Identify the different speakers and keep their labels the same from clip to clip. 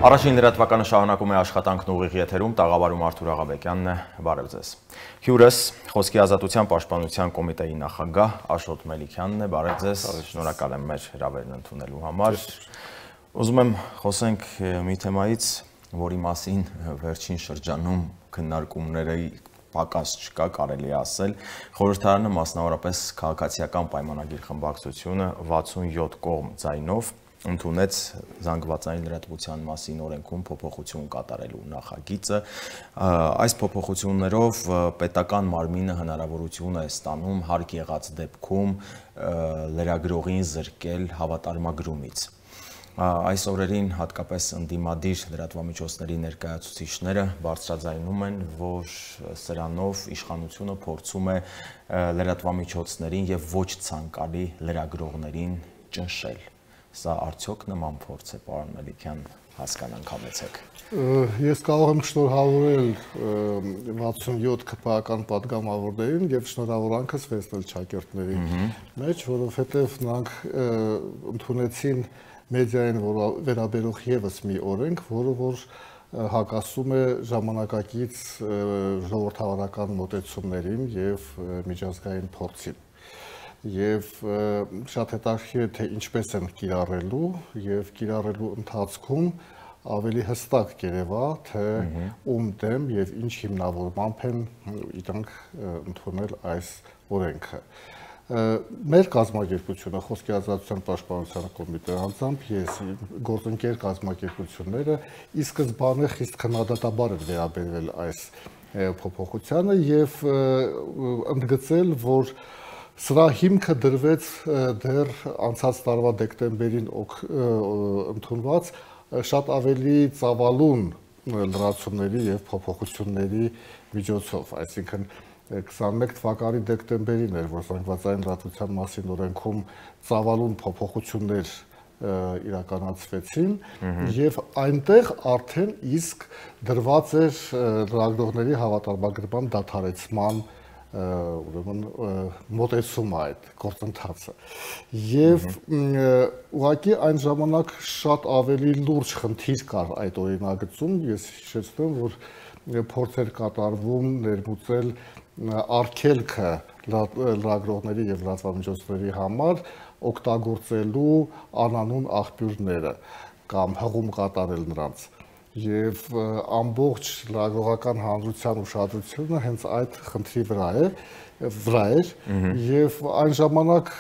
Speaker 1: Առաջին լրատվականը շարունակում է աշխատանքն ուղիղ եթերում, տաղավարում Արթուր Աղաբեկյանն է, բարև ձեզ։ Հյուրս Խոսքի ազատության պաշտպանության կոմիտեի նախագահ Աշոտ Մելիքյանն է, բարև ձեզ, շնորհակալ եմ մեր հրավերն ընդունելու համար։ Ուզում եմ խոսենք մի թեմայից, որի մասին վերջին շրջանում քննարկումների պակաս չկա, կարելի է ասել, խորհրդարանը մասնավորապես քաղաքացիական պայմանագիր խմբակցությունը 67 կողմ ձայնով ընդունեց զանգվածային լրատվության մասին օրենքում փոփոխություն կատարելու նախագիծը։ Այս փոփոխություններով պետական մարմինը հնարավորություն է ստանում հարկ եղած դեպքում լրագրողին զրկել հավատարմագրումից։ Այս օրերին հատկապես ընդդիմադիր լրատվամիջոցների ներկայացուցիչները բարձրաձայնում են, որ սրանով իշխանությունը փորձում է լրատվամիջոցներին եւ ոչ ցանկալի լրագրողներին ճնշել։ Սա արդյոք նման փորձ է, պարոն Մելիքյան, հասկանանք համեցեք։
Speaker 2: Ես կարող եմ շնորհավորել 67 ԿՊԱ-ական պատգամավորներին եւ շնորհավորանքս վերցնել ճակերտների մեջ, որովհետեւ նրանք ընդունեցին մեդիային վերաբերող եւս մի օրենք, որը որ հակասում է ժամանակակից ժողովրդավարական մոտեցումներին եւ միջազգային փորձին։ Եվ շատ հետաքրքիր է, թե ինչպես են կիրառելու եւ կիրառելու ընթացքում ավելի հստակ կերևա, թե ում դեմ եւ ինչ հիմնավորմամբ են իրանք ընդունել այս օրենքը։ Մեր կազմակերպությունը Խոսքի ազատության պաշտպանության կոմիտեի անձամբ ես գործընկեր կազմակերպությունները ի սկզբանե խիստ քննադատաբար են վերաբերվել այս փոփոխությանը եւ ընդգծել, որ սրա հիմքը դրվեց դեռ անցած տարվա դեկտեմբերին ընդունված շատ ավելի ծավալուն լրացումների եւ փոփոխությունների միջոցով, այսինքն 21 թվականի դեկտեմբերին էր, որ զանգվածային լրատվության մասին օրենքում ծավալուն փոփոխություններ իրականացվեցին եւ այնտեղ արդեն իսկ դրված էր լրագրողների հավատարմագրման դադարեցման ուրեմն մոտեցումը այդ գործընթացը եւ ուղղակի այն ժամանակ շատ ավելի լուրջ խնդիր կար այդ օրինագծում, ես հիշեցնում, որ փորձեր կատարվում ներմուծել արգելքը լրագրողների եւ լրատվամիջոցների համար օգտագործելու անանուն աղբյուրները կամ հղում կատարել նրանց եւ ամբողջ լրագրողական հանրության ուշադրությունը հենց այդ խնդրի վրա էր եւ այն ժամանակ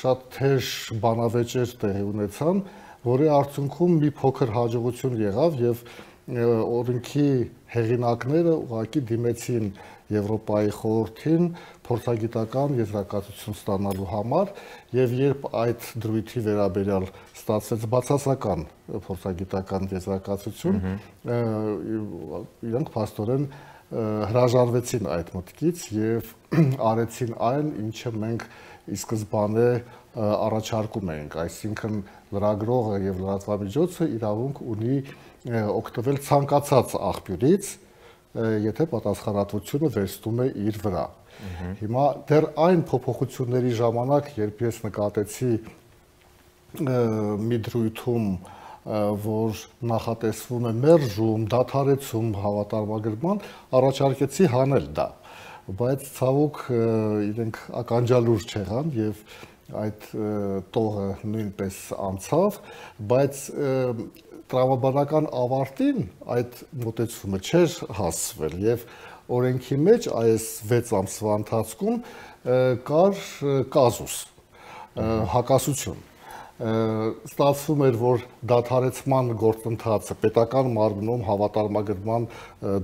Speaker 2: շատ թեժ բանավեճեր տեղի ունեցան, որի արդյունքում մի փոքր հաջողություն եղավ եւ օրենքի հեղինակները ուղղակի դիմեցին Եվրոպայի խորհրդին փորձագիտական եզրակացություն ստանալու համար եւ երբ այդ դրույթի վերաբերյալ ստացվեց բացասական փորձագիտական եզրակացություն, իրանք փաստորեն հրաժարվեցին այդ մտքից եւ արեցին այն, ինչը մենք ի սկզբանե առաջարկում էինք, այսինքն լրագրողը եւ լրատվամիջոցը իրավունք ունի օգտվել ցանկացած աղբյուրից, եթե պատասխանատվությունը վերցնում է իր վրա։ Հիմա դեռ այն փոփոխությունների ժամանակ, երբ ես նկատեցի մի դրույթում, որ նախատեսվում է մերժում, դադարեցում հավատարմագրման, առաջարկեցի հանել դա, բայց ցավոք իրենք ականջալուր չեղան եւ այդ տողը նույնպես անցավ, բայց տրամաբանական ավարտին այդ մոտեցումը չէր հասցվել եւ օրենքի մեջ այս 6 ամսվա ընթացքում կար կազուս, հակասություն։ Ստացվում էր, որ դադարեցման գործընթացը պետական մարմնում հավատարմագրման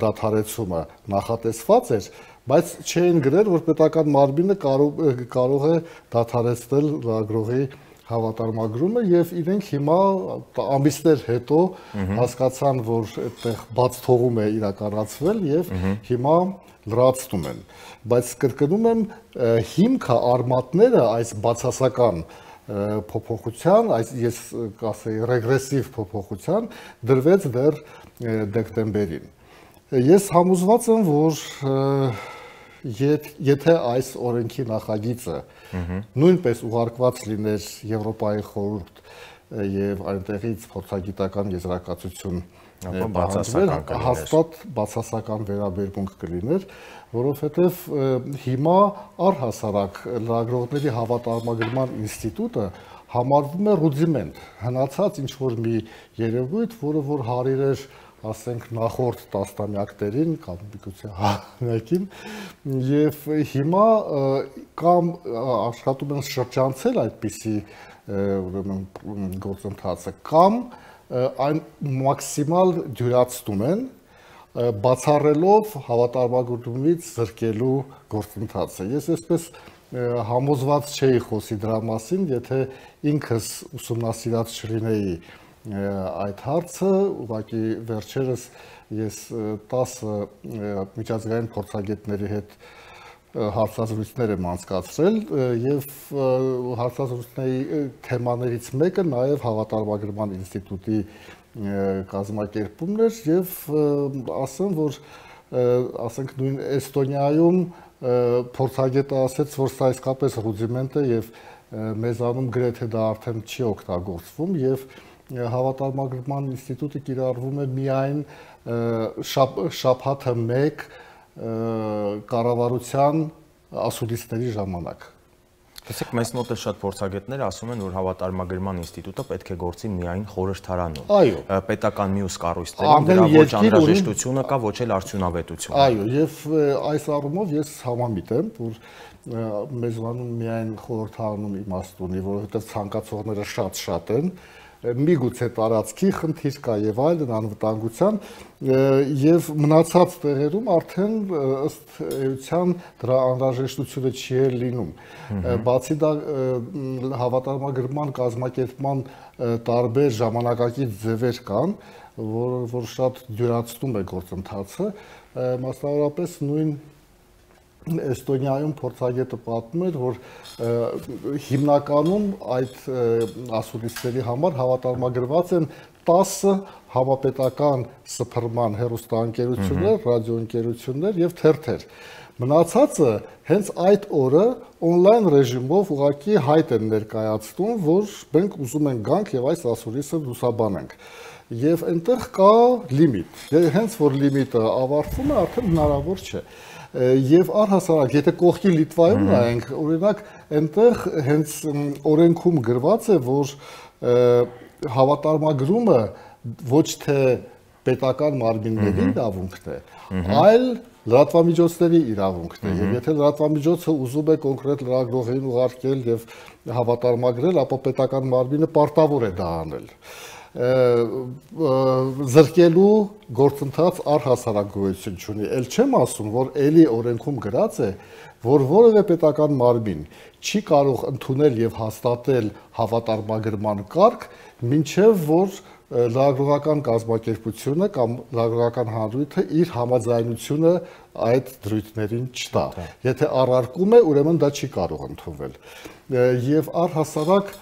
Speaker 2: դադարեցումը նախատեսված էր, բայց չէին գրել, որ պետական մարմինը կարող է դադարեցնել լրագրողի հավատարմագրումը եւ իրենք հիմա ամիսներ հետո հասկացան, որ այդտեղ բաց թողում է իրականացվել եւ հիմա լրացնում են, բայց կրկնում եմ, հիմքը արմատները այս բացասական փոփոխության, ես կասեի ռեգրեսիվ փոփոխության դրվեց դեռ դեկտեմբերին։ Ես համոզված եմ, որ եթե այս օրենքի նախագիծը նույնպես ուղարկված լիներ Եվրոպայի խորհուրդ եւ այնտեղից փորձագիտական եզրակացություն
Speaker 1: բացասական
Speaker 2: հաստատ բացասական վերաբերմունք կլիներ, որովհետեւ հիմա առհասարակ լրագրողների հավատարմագրման ինստիտուտը համարվում է ռուդիմենտ, հնացած ինչ որ մի երևույթ, որը որ հարիր էր, ասենք, նախորդ տասնամյակներին կամ միգուցե համակին, եւ հիմա կամ աշխատում են շրջանցել այդպիսի ուրեմն գործընթացը, կամ այն մաքսիմալ դյուրացնում են, բացառելով հավատարմագրումից զրկելու գործընթացը։ Ես այսպես համոզված չէի խոսի դրա մասին, եթե ինքս ուսումնասիրած չլինեի այդ հարցը, ուղղակի վերջերս ես 10 միջազգային փորձագետների հետ հարցազրույցներ եմ անցկացրել եւ հարցազրույցների թեմաներից մեկը նաեւ հավատարմագրման ինստիտուտի կազմակերպումն էր եւ ասեմ, որ ասենք նույն Էստոնիայում փորձագետը ասաց, որ սա իսկապես ռուդիմենտ է եւ մեզանում գրեթե դա արդեն չի օգտագործվում եւ հավատարմագրման ինստիտուտը կիրառվում է միայն շաբաթը 1 կառավարության ասուլիսների ժամանակ։
Speaker 1: Տեսեք, մեզ մոտ էլ շատ փորձագետներ ասում են, որ հավատարմագրման ինստիտուտը պետք է գործի միայն խորհրդարանում։
Speaker 2: Այո,
Speaker 1: պետական մյուս կառույցներում դրա ոչ անհրաժեշտությունը կա, ոչ էլ արդյունավետությունը։
Speaker 2: Այո, եւ այս առումով ես համամիտ եմ, որ մեզանում միայն խորհրդարանում իմաստ ունի, որովհետեւ ցանկացողները շատ են, միգուցե տարածքի խնդիր կա եւ այլն, անվտանգության եւ մնացած տեղերում արդեն ըստ էության դրա անհրաժեշտությունը չի լինում։ Բացի դա հավատարմագրման կազմակերպման տարբեր ժամանակակից ձևեր կան, որ շատ դյուրացնում է գործընթացը, մասնավորապես նույն Էստոնիայում փորձագետը պատմում էր, որ հիմնականում այդ ասուլիսների համար հավատարմագրված են 10 համապետական սփռման հեռուստաընկերություններ, ռադիոընկերություններ եւ թերթեր։ Մնացածը հենց այդ օրը on-line ռեժիմով ուղղակի հայտ են ներկայացնում, որ մենք ուզում ենք գանք եւ այս ասուլիսը լուսաբանենք։ Եվ այնտեղ կա լիմիտ։ Հենց որ լիմիտը ավարտվում է, արդեն հնարավոր չէ։ Եվ առհասարակ, եթե կողքի Լիտվայում նայենք, օրինակ, այնտեղ հենց օրենքում գրված է, որ հավատարմագրումը ոչ թե պետական մարմինների իրավունքն է, այլ լրատվամիջոցների իրավունքն է։ Եվ եթե լրատվամիջոցը ուզում է կոնկրետ լրագրողին ուղարկել եւ հավատարմագրել, ապա պետական մարմինը պարտավոր է դա անել։ Զրկելու գործընթաց առհասարակ գոյություն չունի։ Էլ չեմ ասում, որ էլի օրենքում գրած է, որ որևէ պետական մարմին չի կարող ընդունել եւ հաստատել հավատարմագրման կարգ, մինչեւ որ լրագրողական կազմակերպությունը կամ լրագրողական հանրույթը իր համաձայնությունը այդ դրույթներին չտա։ Եթե առարկում է, ուրեմն դա չի կարող ընդունվել։ Եվ առհասարակ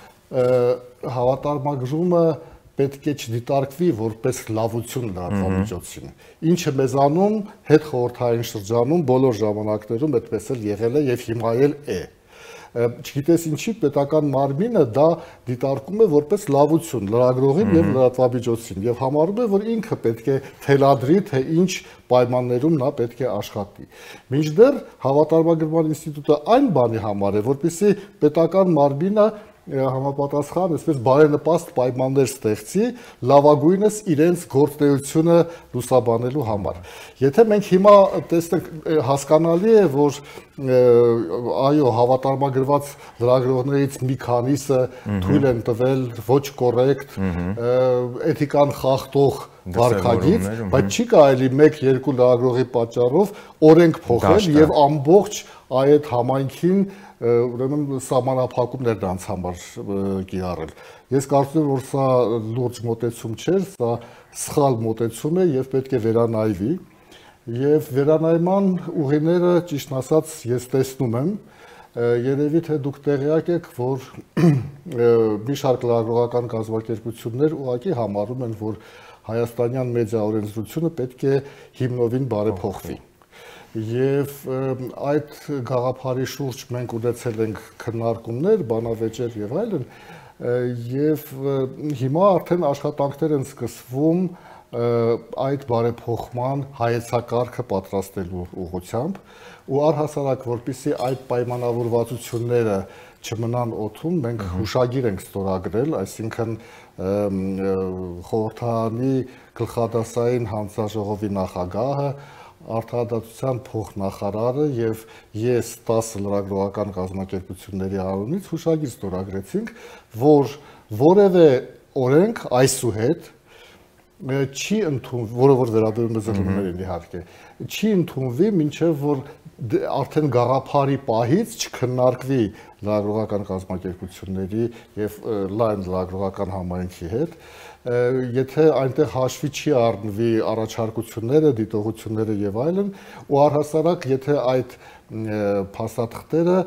Speaker 2: հավատարմագրումը պետք է չդիտարկվի որպես լավություն լրատվամիջոցին, ինչը մեզանում հետ խորհրդային շրջանում բոլոր ժամանակներում այդպես էլ եղել է եւ հիմա էլ է։ Չգիտես ինչի պետական մարմինը դա դիտարկում է որպես լավություն լրագրողին եւ լրատվամիջոցին եւ համարում է, որ ինքը պետք է թելադրի, թե ինչ պայմաններում նա պետք է աշխատի։ Մինչդեռ հավատարմագրման ինստիտուտը այն բանի համար է, որպեսզի պետական մարմինը համապատասխան, այսպես բարենպաստ պայմաններ ստեղծի լավագույնս իրենց գործունեությունը լուսաբանելու համար։ Եթե մենք հիմա տեսնենք, հասկանալի է, որ այո, հավատարմագրված լրագրողներից մի քանիսը թույլ են տվել ոչ կոռեկտ, էթիկան խախտող վարքագիծ, բայց չի կարելի 1-2 լրագրողի պատճառով օրենք փոխել եւ ամբողջ այդ համայնքին ուրեմն սահմանափակումներ դրանց համար կիրառել։ Ես կարծում եմ, որ սա լուրջ մոտեցում չէ, սա սխալ մոտեցում է եւ պետք է վերանայվի։ Եվ վերանայման ուղիները, ճիշտ ասած, ես տեսնում եմ, երևի թե դուք տեղյակ եք, որ մի շարք լրագրողական կազմակերպություններ ուղղակի համարում են, որ հայաստանյան մեդիա օրենսդրությունը պետք է հիմնովին բարեփոխվի։ Եվ այդ գաղափարի շուրջ մենք ունեցել ենք քննարկումներ, բանավեճեր եւ այլն, եւ հիմա արդեն աշխատանքներ են սկսվում այդ բարեփոխման հայեցակարգը պատրաստելու ուղղությամբ ու առհասարակ որպեսզի այդ պայմանավորվածությունները չմնան օդում, մենք հուշագիր ենք ստորագրել, այսինքն խորհրդարանի գլխադասային հանձնաժողովի նախագահը, Արդարադատության փոխնախարարը եւ ես 10 լրագրողական կազմակերպությունների անունից հուշագիր ստորագրեցինք, որ որևէ օրենք այսուհետ չի ընդունվի, որը որ վերաբերում է զրույցներին իհարկե, չի ընդունվի, մինչև որ արդեն գաղափարի պահից չքննարկվի լրագրողական կազմակերպությունների եւ լայն լրագրողական համայնքի հետ, եթե այնտեղ հաշվի չի առնվի առաջարկությունները, դիտողությունները եւ այլն, ու առհասարակ եթե այդ փաստաթղթերը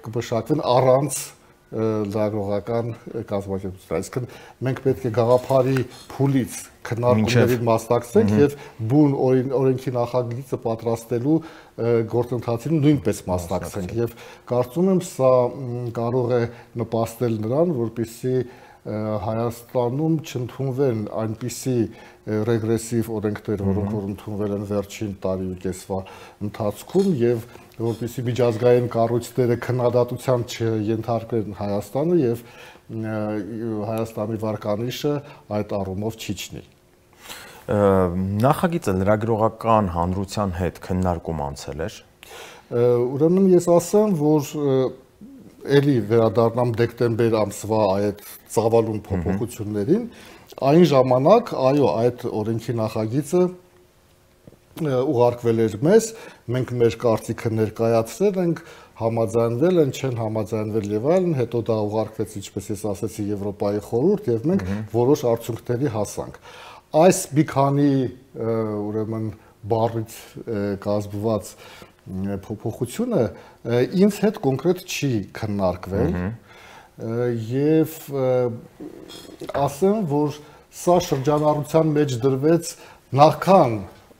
Speaker 2: կմշակվեն առանց լրագրողական կազմակերպություն, այսինքն մենք պետք է գաղափարի փուլից քննարկումներին մասնակցենք եւ բուն օրենքի նախագիծը պատրաստելու գործընթացին նույնպես մասնակցենք եւ կարծում եմ սա կարող է նպաստել նրան, որպեսզի Հայաստանում չընդունվեն այնպիսի ռեգրեսիվ օրենքներ, որոնք որ ընդունվել են վերջին տարի ու կեսվա ընթացքում եւ որպեսզի միջազգային կառույցները քննադատության չենթարկվեն Հայաստանը եւ Հայաստանի վարկանիշը այդ առումով չիջնի։
Speaker 1: Նախագիծը լրագրողական հանրության հետ քննարկում անցել էր։
Speaker 2: Ուրեմն ես ասեմ, որ էլի վերադառնամ դեկտեմբեր ամսվա այդ ծավալուն փոփոխություններին, այն ժամանակ, այո, այդ օրենքի նախագիծը ուղարկվել էր մեզ, մենք մեր կարծիքը ներկայացրել ենք, համաձայնվել են, չեն համաձայնվել եւ այլն, հետո դա ուղարկվեց, ինչպես ես ասացի, Եվրոպայի խորհուրդ եւ մենք որոշ արդյունքների հասանք։ Այս մի քանի ուրեմն բառից կազմված փոփոխությունը ինձ հետ կոնկրետ չի քննարկվել եւ ասեմ, որ սա շրջանառության մեջ դրվեց նախքան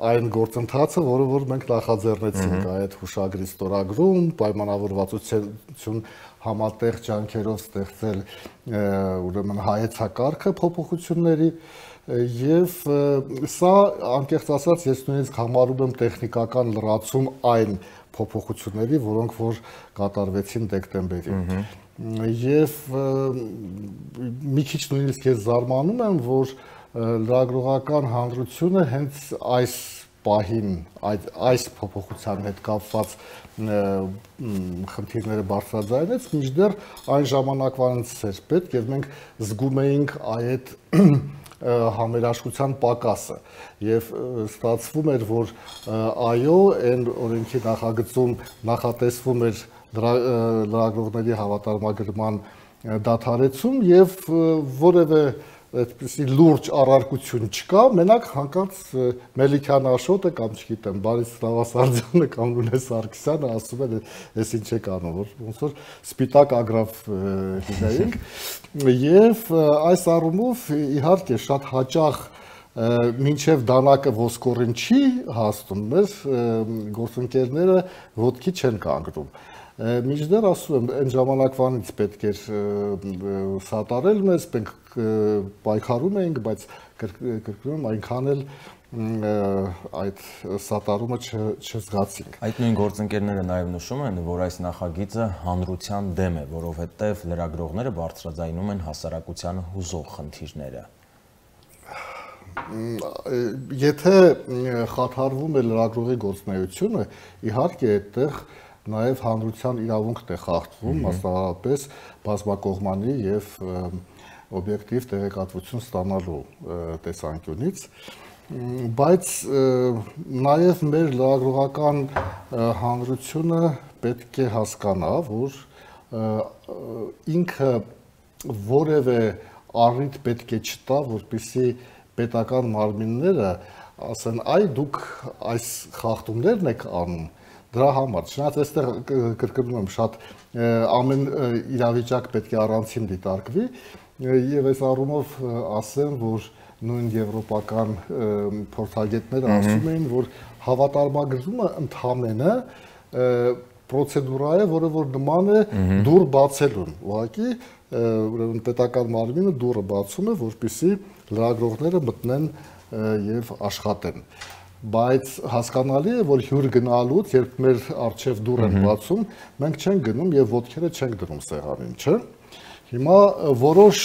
Speaker 2: այն գործընթացը, որը որ մենք նախաձեռնեցինք այդ հուշագրի ստորագրում, պայմանավորվածություն համատեղ ջանքերով ստեղծել ուրեմն հայեցակարգը փոփոխությունների եւ սա անկեղծ ասած ես նույնիսկ համարում եմ տեխնիկական լրացում այն փոփոխությունների, որոնք որ կատարվեցին դեկտեմբերին։ Եվ մի քիչ նույնիսկ ես զարմանում եմ, որ լրագրողական հանրությունը հենց այս պահին այս փոփոխության հետ կապված խնդիրները բարձրաձայնեց, մինչդեռ այն ժամանակվանից էր պետք եւ մենք զգում էինք այդ համերաշխության պակասը եւ ստացվում էր, որ այո, այն օրենքի նախագծում նախատեսվում էր լրագրողների հավատարմագրման դադարեցում եւ որևէ այդպիսի լուրջ առարկություն չկա, մենակ հանկարծ Մելիքյան Աշոտը կամ չգիտեմ, Բարիս Նավասարդյանը կամ Լունե Սարգսյանը ասում են, ես ինչ եք անում, որ ոնց որ սպիտակ ագրավ հինայինք եւ այս առումով իհարկե շատ հաճախ մինչև դանակը ոսկորին չի հասնում, մեր գործընկերները ոտքի չեն կանգնում։ Մինչդեռ ասում եմ, այն ժամանակվանից պետք էր սատարել մեզ, մենք պայքարում էինք, բայց կրկնում այնքան էլ այդ սատարումը չզգացինք։
Speaker 1: Այդ նույն գործընկերները նաև նշում են, որ այս նախագիծը հանրության դեմ է, որովհետև լրագրողները բարձրաձայնում են հասարակությանը հուզող խնդիրները։
Speaker 2: Եթե խաթարվում է լրագրողի գործունեությունը, իհարկե այդտեղ նաև հանրության իրավունքն է խախտվում, մասնավորապես բազմակողմանի եւ օբյեկտիվ տեղեկատվություն ստանալու տեսանկյունից, բայց նաև մեր լրագրողական հանրությունը պետք է հասկանա, որ ինքը որևէ առիթ պետք է չտա, որպեսզի պետական մարմինները ասեն, այ դուք այս խախտումներն եք անում, դրա համար, չնայած այստեղ կրկնում եմ շատ ամեն իրավիճակ պետք է առանցին դիտարկվի եւ այս առումով ասեմ, որ նույն եվրոպական փորձագետները ասում էին, որ հավատարմագրումը ընդհանրապես պրոցեդուրա է, որը որ նման է դուր բացելուն։ Ուղղակի ուրեմն պետական մարմինը դուռը բացում է, որպեսզի լրագրողները մտնեն եւ աշխատեն։ Բայց հասկանալի է, որ հյուր գնալուց, երբ մեր առջև դուռ են բացում, մենք չենք գնում եւ ոտքերը չենք դնում սեղանին, չէ՞։ Հիմա որոշ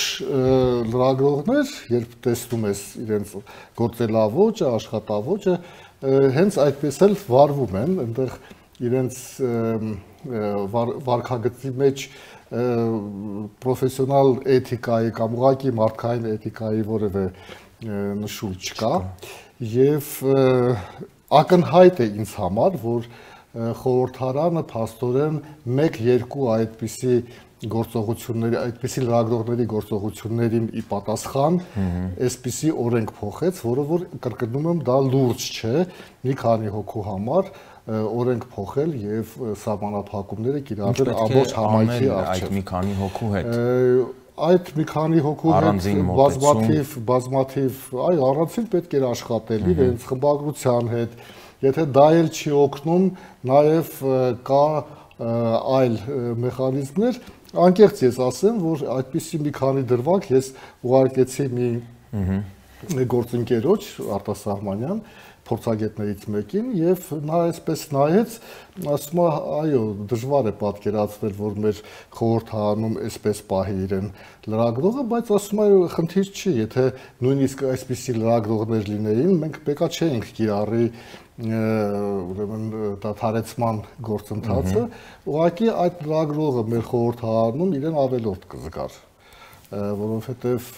Speaker 2: լրագրողներ, երբ տեսնում ես իրենց գործելավոճը, աշխատավոճը, հենց այդպես էլ վարվում են, այնտեղ իրենց վարքագծի մեջ պրոֆեսիոնալ էթիկայի կամ ուղղակի մարդկային էթիկայի որևէ նշույլ չկա եւ ակնհայտ է ինձ համար, որ խորհրդարանը փաստորեն 1-2 այդպիսի գործողությունների, այդպիսի լրագրողների գործողություններին ի պատասխան այսպիսի օրենք փոխեց, որը որ կրկնում եմ, դա լուրջ չէ, մի քանի հոգու համար օրենք փոխել եւ սահմանափակումները կիրառել ամբողջ համայնքի առջեւ։
Speaker 1: Այդ մի քանի հոգու հետ
Speaker 2: այդ մի քանի հոգու հետ բազմաթիվ, այ առանցին պետք էր աշխատել իրենց խմբագրության հետ, եթե դա էլ չի օգնում, նաև կա այլ մեխանիզմներ, անկեղծ ես ասեմ, որ այդպիսի մի քանի դրվագ ես ուղարկեցի մի գործընկերոջ արտասահմանյան փորձագետներից մեկին եւ նա այսպես նայեց, ասում է, այո, դժվար է պատկերացնել, որ մեր խորհրդարանում այսպես պահի իրեն լրագրողը, բայց ասում է, խնդիր չի, եթե նույնիսկ այսպիսի լրագրողներ լինեին, մենք պետքա չէինք կիրառի ուրեմն դադարեցման գործընթացը, ուղղակի այդ լրագրողը մեր խորհրդարանում իրեն ավելորդ կզգար, որովհետեւ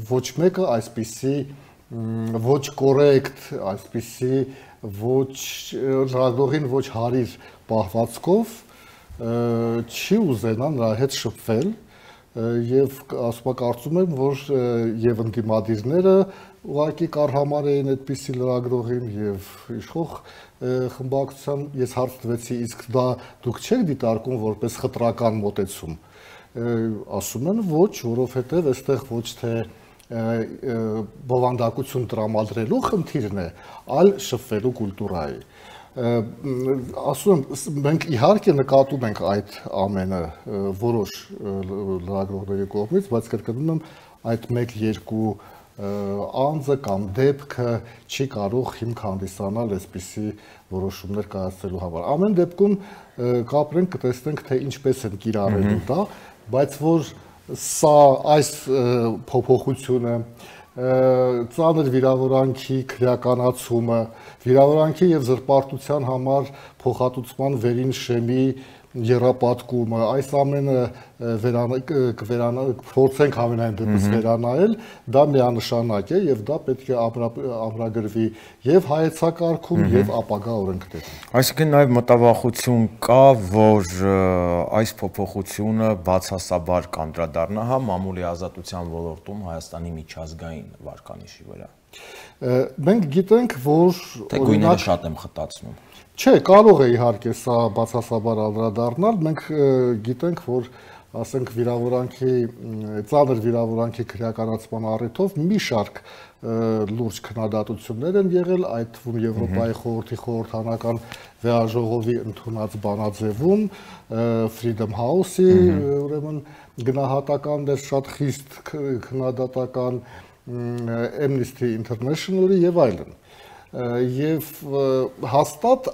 Speaker 2: ոչ մեկը այսպիսի ոչ կորեկտ, այսպիսի ոչ լրագրողին ոչ հարիր պահվածքով չի ուզենա նրա հետ շփվել եւ կարծում եմ, որ եւ ընդդիմադիրները ուղղակի կարհամարեին այդպիսի լրագրողին եւ իշխող խմբակցության ես հարց տվեցի, իսկ դա դուք չեք դիտարկում որպես խտրական մոտեցում։ Ասում են ոչ, որովհետեւ այստեղ ոչ թե բովանդակություն տրամադրելու խնդիրն է, այլ շփվելու կուլտուրայի։ Ասում եմ, մենք իհարկե նկատում ենք այդ ամենը որոշ լրագրողների կողմից, բայց կրկնում եմ, այդ 1-2 անձը կամ դեպքը չի կարող հիմք հանդիսանալ այսպիսի որոշումներ կայացնելու համար։ Ամեն դեպքում կապրենք, կտեսնենք, թե ինչպես են կիրառելու դա, բայց որ սա այս փոփոխությունը ծանր վիրավորանքի քրեականացումը, վիրավորանքի եւ զրպարտության համար փոխհատուցման վերին շեմի եռապատկումը, այս ամենը փորձենք ամենայն դեպս վերանայել, դա միանշանակ է եւ դա պետք է ամրագրվի եւ հայեցակարգում եւ ապագա օրենքներում։
Speaker 1: Այսինքն նաեւ մտավախություն կա, որ այս փոփոխությունը բացասաբար կանդրադառնա հա մամուլի ազատության ոլորտում Հայաստանի միջազգային վարկանիշի վրա։
Speaker 2: Մենք գիտենք, որ
Speaker 1: թե գույները շատ եմ խտացնում։
Speaker 2: Չէ, կարող է իհարկե սա բացասաբար անդրադառնալ, մենք գիտենք, որ ասենք վիրավորանքի ծանր վիրավորանքի քրեականացման առիթով մի շարք լուրջ քննադատություններ են եղել, այդ թվում Եվրոպայի խորհրդի խորհրդանական վեաժողովի ընդունած բանաձևում, Freedom House-ի ուրեմն գնահատականներ շատ խիստ քննադատական, Amnesty International-ի եւ այլն։ Եվ հաստատ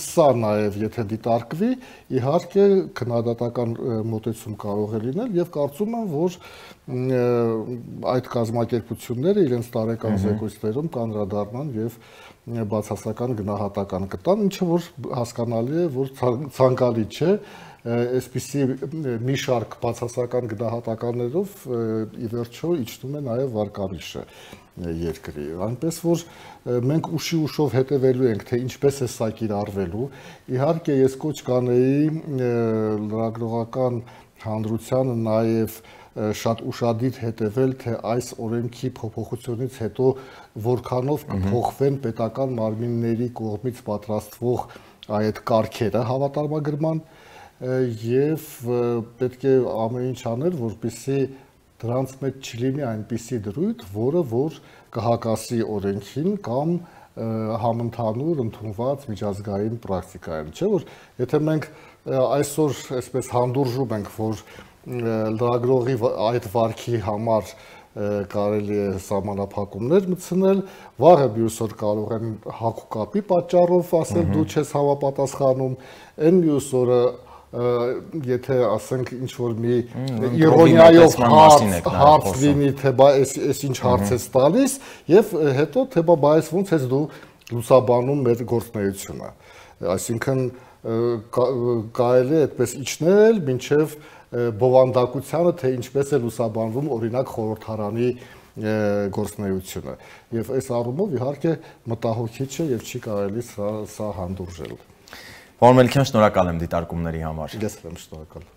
Speaker 2: սա նաև եթե դիտարկվի, իհարկե քննադատական մոտեցում կարող է լինել եւ կարծում եմ, որ այդ կազմակերպությունները իրենց տարեկան զեկույցներում կանդրադառնան եւ բացասական գնահատական կտան, ինչը որ հասկանալի է, որ ցանկալի չէ այսպիսի մի շարք բացասական գնահատականներով ի վերջո իջնում է նաև վարկանիշը երկրի, այնպես որ մենք ուշով հետևելու ենք, թե ինչպես է սա կիրառվելու։ Իհարկե ես կոչ կանեի լրագրողական հանրությանը նաև շատ ուշադիր հետևել, թե այս օրենքի փոփոխությունից հետո որքանով կփոխվեն պետական մարմինների կողմից պատրաստվող այդ կարգերը հավատարմագրման եւ պետք է ամեն ինչ անել, որպեսզի դրանց մեջ չլինի այնպիսի դրույթ, որը որ կհակասի օրենքին կամ համընդհանուր ընդունված միջազգային պրակտիկային, չէ՞ որ եթե մենք այսօր այսպես հանդուրժում ենք, որ լրագրողի այդ վարքի համար կարելի է սահմանափակումներ մտցնել, վաղը մյուս օր կարող են հակուկապի պատճառով ասել դու չես համապատասխանում, այն մյուս օրը եթե ասենք ինչ որ մի իրոնիայով հարց լինի, թե բա այս ինչ հարց ես տալիս, եւ հետո թե բա այս ոնց ես դու լուսաբանում մեր գործունեությունը, այսինքն կարելի է այդպես իջնել մինչև բովանդակությանը, թե ինչպես է լուսաբանվում օրինակ խորհրդարանի գործունեությունը, եւ այս առումով իհարկե մտահոգիչ է եւ չի կարելի սա հանդուրժել։
Speaker 1: Պարոն Մելիքյան, շնորհակալ եմ դիտարկումների համար։
Speaker 2: Ես եմ շնորհակալ։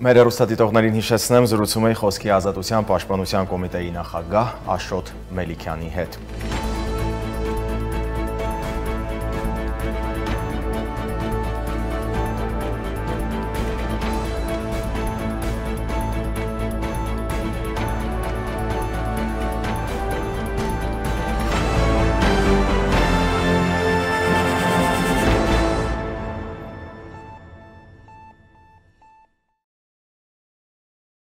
Speaker 1: Մեր հեռուստադիտողներին հիշեցնեմ, զրուցում էի Խոսքի ազատության պաշտպանության կոմիտեի նախագահ Աշոտ Մելիքյանի հետ։